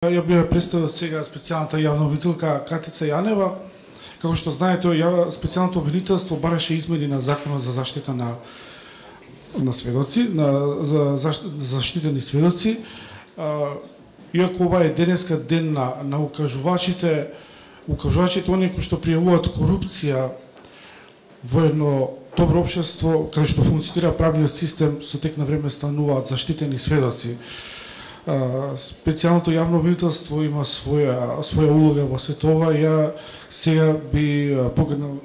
Ја би ја представил сега специјалната јавна обвинителка Катица Јанева. Како што знаете, специјалното обвинителство бараше измени на Законот за заштита на сведоци, за заштитени сведоци. Иако ова е денеска ден на укажувачите, оние кои што пријавуваат корупција во едно добро општество, каде што функционира правниот систем, со тек на време стануваат заштитени сведоци. Специјалното јавно обвинителство има своја улога во сето ова. Ја сега би поканал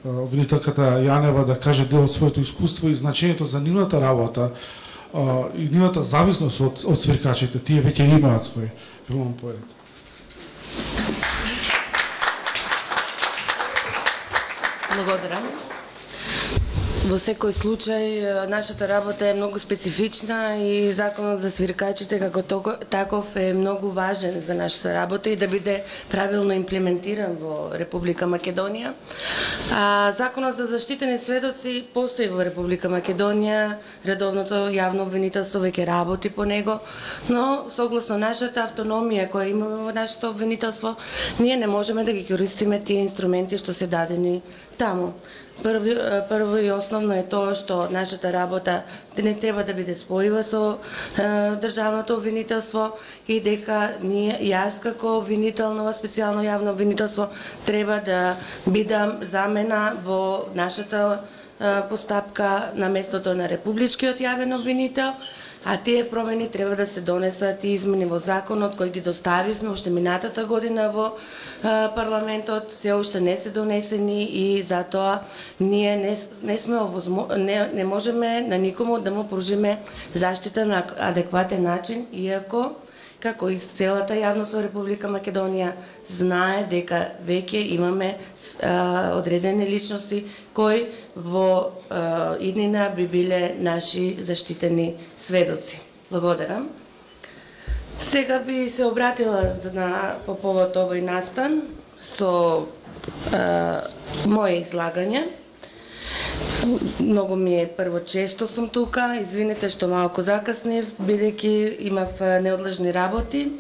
обвинителката Јанева да каже дел од своето искуство и значењето за нивната работа и нивната зависност од свиркачите. Тие веќе имаат свој филмон поет. Благодарам. Во секој случај, нашата работа е многу специфична и Законот за свиркачите како таков е многу важен за нашата работа и да биде правилно имплементиран во Република Македонија. Законот за заштитени сведоци постои во Република Македонија, редовното јавно обвинителство веќе работи по него, но согласно нашата автономија која имаме во нашето обвинителство, ние не можеме да ги користиме тие инструменти што се дадени таму. Прво и основно е тоа што нашата работа не треба да биде спојива со државното обвинителство и дека јас како обвинител во специјално јавно обвинителство треба да бидам замена во нашата постапка на местото на републичкиот јавен обвинител, а тие промени треба да се донесат и измени во законот кој ги доставивме уште минатата година во парламентот, се уште не се донесени и затоа ние не можеме на никому да му пружиме заштита на адекватен начин, иако како и целата јавност во Република Македонија знае дека веќе имаме одредени личности кои во иднина би биле наши заштитени сведоци. Благодарам. Сега би се обратила по повод овој настан со моje излагање. Многу ми е прво често сум тука, извинете што малку закаснев, бидејќи имав неодлежни работи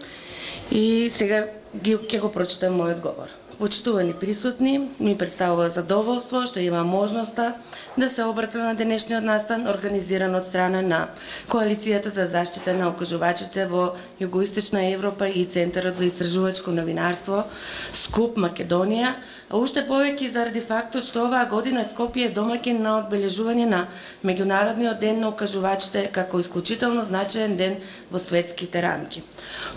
и сега ќе го прочитам мојот говор. Почитувани присутни, ми представува задоволство што има можноста да се обрата на денешниот настан организиран од страна на Коалицијата за заштита на окажувачите во Југоисточна Европа и Центарот за истражувачко новинарство СКУП Македонија, а уште повеќе заради фактот што оваа година Скопје е домаќин на одбележување на Меѓународниот ден на окажувачите како исклучително значаен ден во светските рамки.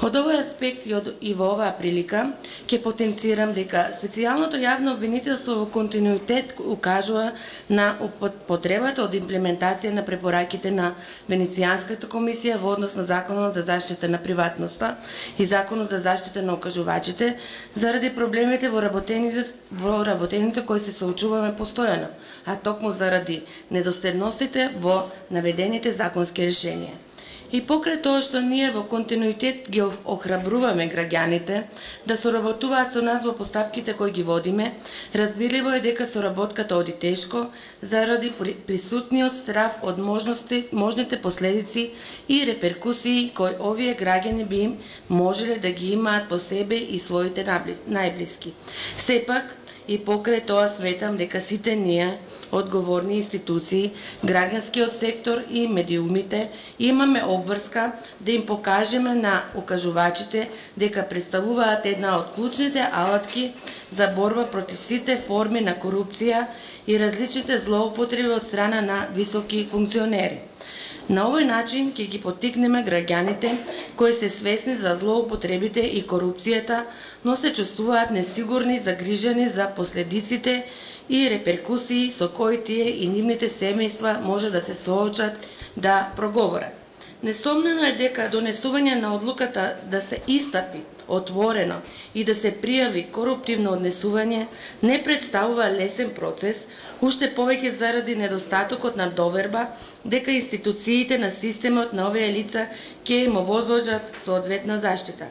Од овој аспект и во оваа прилика ќе потенцирам дека специјалното јавно обвинителство во континуитет укажува на потребата од имплементација на препораките на Венецијанската комисија во однос на Законот за заштита на приватноста и Законот за заштита на окажувачите заради проблемите во работените кои се соочуваме постојано, а токму заради недоследностите во наведените законски решенија. И покрај тоа што ние во континуитет ги охрабруваме граѓаните да соработуваат со нас во постапките кои ги водиме, разбирливо е дека соработката оди тешко заради присутниот страв од можните последици и реперкусии кои овие граѓани би им можеле да ги имаат по себе и своите најблиски. Сепак, и покрај тоа сметам дека сите ние, одговорни институции, граѓанскиот сектор и медиумите, имаме обврска да им покажеме на окажувачите дека представуваат една од клучните алатки за борба против сите форми на корупција и различните злоупотреби од страна на високи функционери. На овој начин ќе ги поттикнеме граѓаните кои се свесни за злоупотребите и корупцијата, но се чувствуваат несигурни, загрижени за последиците и реперкусии со кои тие и нивните семејства може да се соочат да проговорат. Несомнено е дека донесување на одлуката да се истапи отворено и да се пријави коруптивно однесување не представува лесен процес, уште повеќе заради недостатокот на доверба дека институциите на системот на овие лица ќе им овозможат соодветна заштита.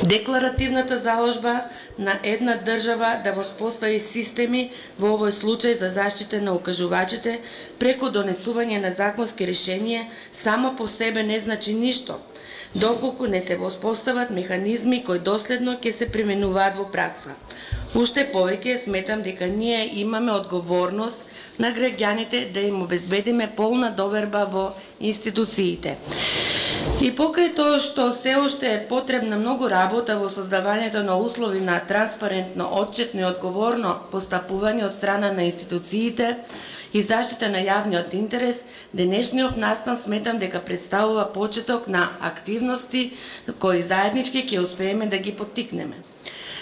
Декларативната заложба на една држава да воспостави системи во овој случај за заштита на укажувачите преку донесување на законски решенија само по себе не значи ништо, доколку не се воспостават механизми кои доследно ќе се применуваат во пракса. Уште повеќе сметам дека ние имаме одговорност на граѓаните да им обезбедиме полна доверба во институциите. И покрај тоа што се уште е потребна многу работа во создавањето на услови на транспарентно, отчетно и одговорно постапување од страна на институциите и заштита на јавниот интерес, денешниот настан сметам дека представува почеток на активности кои заеднички ќе успееме да ги поттикнеме.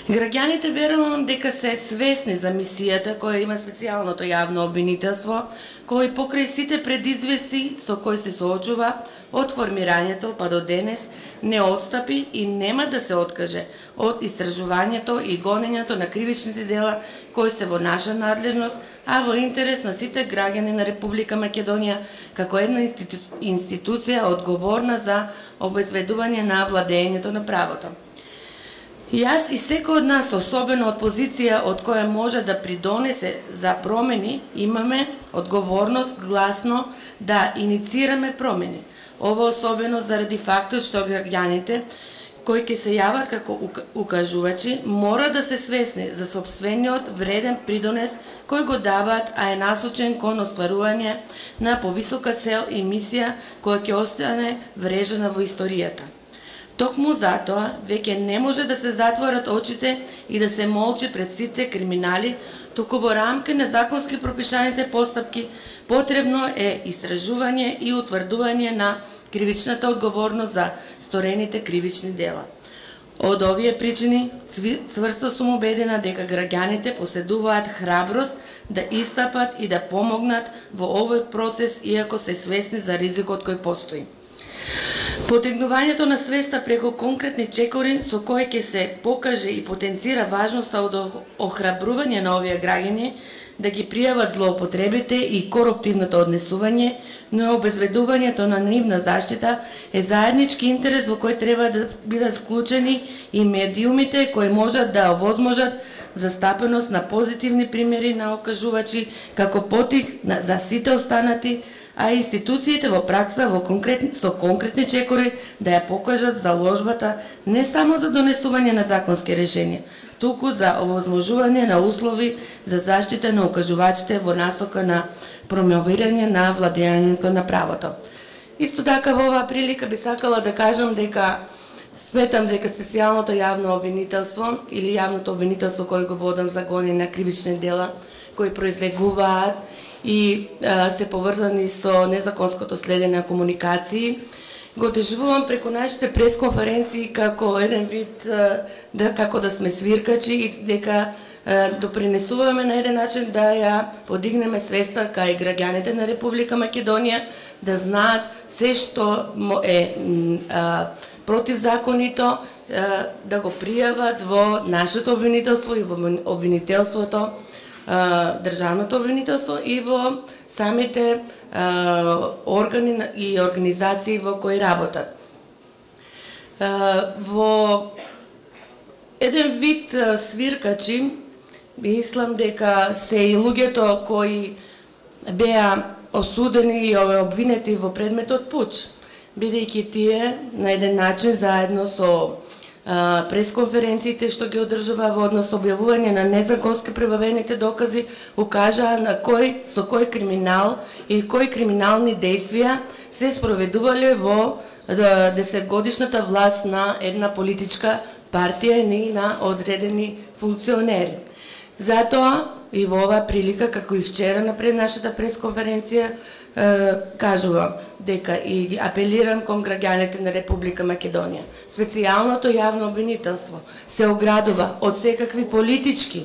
Граѓаните верувам дека се свесни за мисијата која има специјалното јавно обвинителство, кој покрај сите предизвести со кои се соочува од формирањето па до денес не отстапи и нема да се откаже од истражувањето и гонењето на кривичните дела кои се во наша надлежност, а во интерес на сите граѓани на Република Македонија како една институција одговорна за обезбедување на владењето на правото. Јас и секој од нас, особено од позиција од која може да придонесе за промени, имаме одговорност гласно да иницираме промени. Ова особено заради фактот што граѓаните кои ќе се јават како укажувачи мора да се свесни за сопствениот вреден придонес кој го даваат, а е насочен кон остварување на повисока цел и мисија која ќе остане врежена во историјата. Токму затоа веќе не може да се затворат очите и да се молчи пред сите криминали, туку во рамки на законски пропишаните постапки потребно е истражување и утврдување на кривичната одговорност за сторените кривични дела. Од овие причини цврсто сум убедена дека граѓаните поседуваат храброст да истапат и да помогнат во овој процес иако се свесни за ризикот кој постои. Потегнувањето на свеста преку конкретни чекори со кои ќе се покаже и потенцира важноста од охрабрување на овие граѓани да ги пријават злоупотребите и коруптивното однесување, но обезбедувањето на нивна заштита е заеднички интерес во кој треба да бидат вклучени и медиумите кои можат да овозможат застапеност на позитивни примери на окажувачи како потик за сите останати, а институциите во пракса со конкретни чекори да ја покажат заложбата не само за донесување на законски решенија, туку за овозможување на услови за заштита на окажувачите во насока на промовирање на владењето на правото. Исто така во оваа прилика би сакала да кажам дека сметам дека специјалното јавно обвинителство или јавното обвинителство кој го водам за гонење на кривични дела кои произлегуваат и се поврзани со незаконското следење на комуникации, го доживувам преку нашите пресконференции како еден вид како да сме свиркачи и дека допринесуваме на еден начин да ја подигнеме свеста кај граѓаните на Република Македонија, да знаат се што е противзаконито, да го пријават во нашето обвинителство и во обвинителството, државното обвинителство и во самите органи и организации во кои работат. Во еден вид свиркачи, мислам дека се и луѓето кои беа осудени и обвинети во предметот пуч, бидејќи тие на еден начин заедно со пресконференциите што ги одржува во однос објавување на незаконски прибавените докази укажаа на со кој криминал и кои криминални действија се спроведувале во 10-годишната власт на една политичка партија и на одредени функционери. Затоа и во оваа прилика, како и вчера на пред нашата пресконференција, кажувам дека и апелирам кон граѓаните на Република Македонија. Специјалното јавно обвинителство се оградува од секакви политички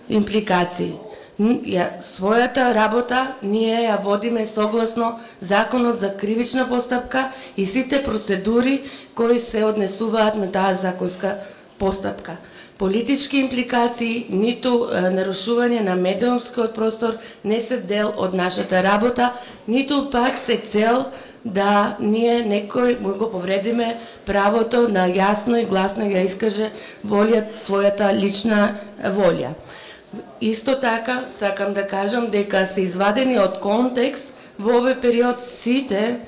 импликации. Својата работа ние ја водиме согласно Законот за кривична постапка и сите процедури кои се однесуваат на таа законска постапка. Политички импликации, ниту нарушување на медиумскиот простор не се дел од нашата работа, ниту пак се цел да ние некој му го повредиме правото на јасно и гласно ја искаже својата лична волја. Исто така, сакам да кажам дека се извадени од контекст во овој период сите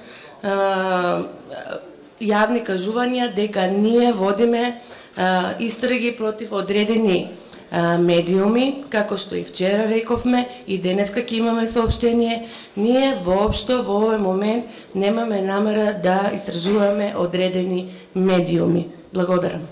јавни кажувања дека ние водиме истраги против одредени медиуми, како што и вчера рековме, и денеска ќе имаме соопштение, ние воопшто во овој момент немаме намера да истражуваме одредени медиуми. Благодарам.